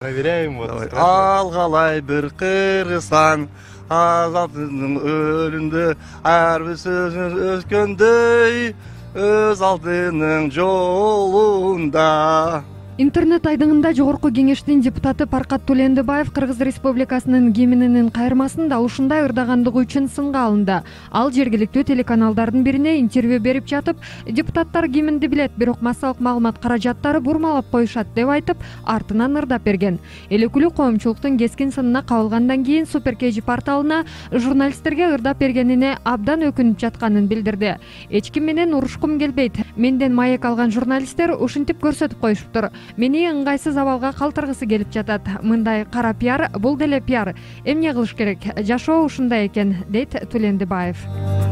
Проверяем вот. Алгалай бир кыргызстан азаттын өлүндө ар бир сөзүн өткөндөй өз алдынын жолунда. Интернет айдыңында Жогорку Кеңештин депутаты Паркат Төлөндүбаев Кыргыз Республикасынын гимнинин кайырмасын да ушундай ырдагандыгы үчүн сынга алынды. Ал жергиликтүү телеканалдардын бирине интервью берип жатып, депутаттар гимнди билет, бирок массалык маалымат каражаттары бурмалап коюшат деп айтып, артынан ырдап берген. Эл өкүлү коомчулуктун кескин сынына кабылгандан кийин Супер KG порталына журналисттерге ырдап бергенине абдан өкүнүп жатканын билдирди. Эч ким менен урушкум келбейт. Менден маек алган журналисттер ушинтип көрсөтүп коюшуптур. Мени ыңгайсыз абалга калтыргысы келип жатат. Мындай кара пиар, бул деле пиар. Эмне кылыш керек? Жашоо ушундай экен, дейт Төлөндүбаев.